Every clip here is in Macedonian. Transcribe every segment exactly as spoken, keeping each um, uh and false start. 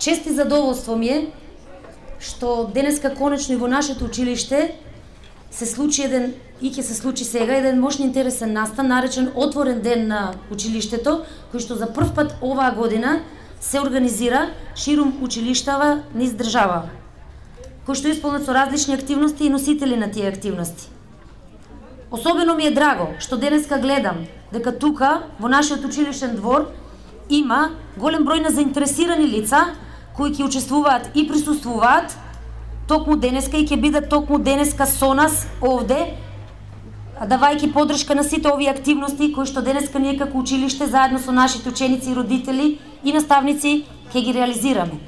Чест и задоволство ми е што денеска конечно и во нашето училиште се случи еден, и ќе се случи сега, еден мощно интересен настан, наречен Отворен ден на училиштето, кој што за прв пат оваа година се организира ширум училиштава низ држава, кој што исполнет со различни активности и носители на тие активности. Особено ми е драго што денеска гледам дека тука, во нашиот училиштен двор, има голем број на заинтересирани лица кои ќе учествуваат и присуствуваат токму денеска и ќе бидат токму денеска со нас овде, давајќи поддршка на сите овие активности кои што денеска ние како училиште заедно со нашите ученици и родители и наставници ќе ги реализираме.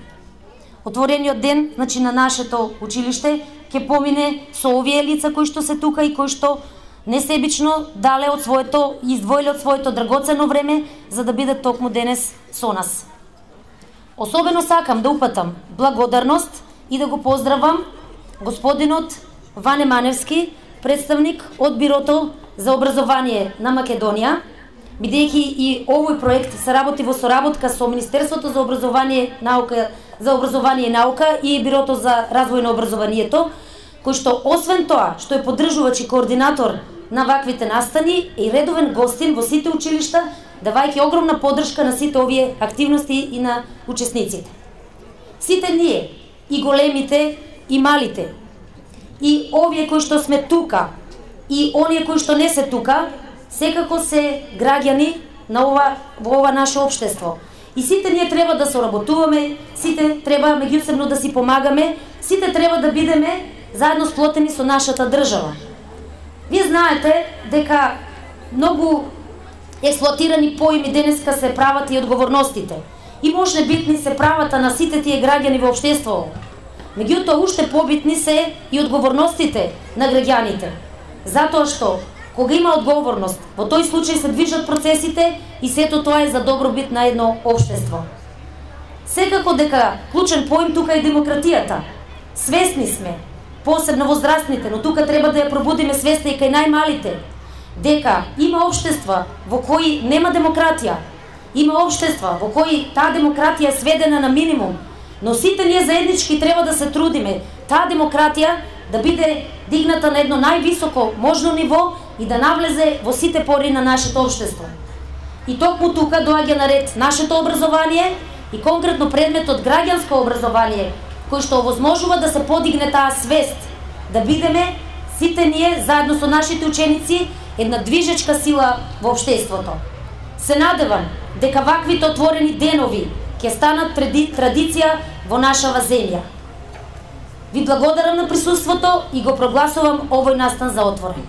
Отворениот ден, значи на нашето училиште, ќе помине со овие лица кои што се тука и кои што несебично дале од своето и издвоиле од своето драгоцено време за да бидат токму денес со нас. Особено сакам да упатам благодарност и да го поздравам господинот Ване Маневски, представник од Бирото за образование на Македонија, бидејќи и овој проект се работи во соработка со Министерството за образование, наука, за образование и наука и Бирото за развој на образованието, кој што освен тоа што е поддржувач и координатор на ваквите настани и редовен гостин во сите училишта, давајќи огромна поддршка на сите овие активности и на учесниците. Сите ние, и големите, и малите, и овие кои што сме тука, и оние кои што не се тука, секако се граѓани на ова, во ова наше општество. И сите ние треба да соработуваме, сите треба меѓусебно да си помагаме, сите треба да бидеме заедно сплотени со нашата држава. Вие знаете дека многу експлоатирани поими денеска се правата и одговорностите. И може битни се правата на сите тие граѓани во општеството. Меѓутоа уште побитни се и одговорностите на граѓаните. Затоа што кога има одговорност, во тој случај се движат процесите и сето тоа е за добробит на едно општество. Секако дека клучен поим тука е демократијата. Свесни сме, посебно возрастните, но тука треба да ја пробудиме свеста и кај најмалите, дека има општества во кои нема демократија, има општества во кои таа демократија е сведена на минимум, но сите ние заеднички треба да се трудиме таа демократија да биде дигната на едно највисоко можно ниво и да навлезе во сите пори на нашето општество. И токму тука доаѓа на ред нашето образование и конкретно предметот граѓанско образование, кој што овозможува да се подигне таа свест, да бидеме сите ние заедно со нашите ученици една движечка сила во општеството. Се надевам дека ваквите отворени денови ќе станат тради, традиција во нашава земја. Ви благодарам на присуството и го прогласувам овој настан за отворен.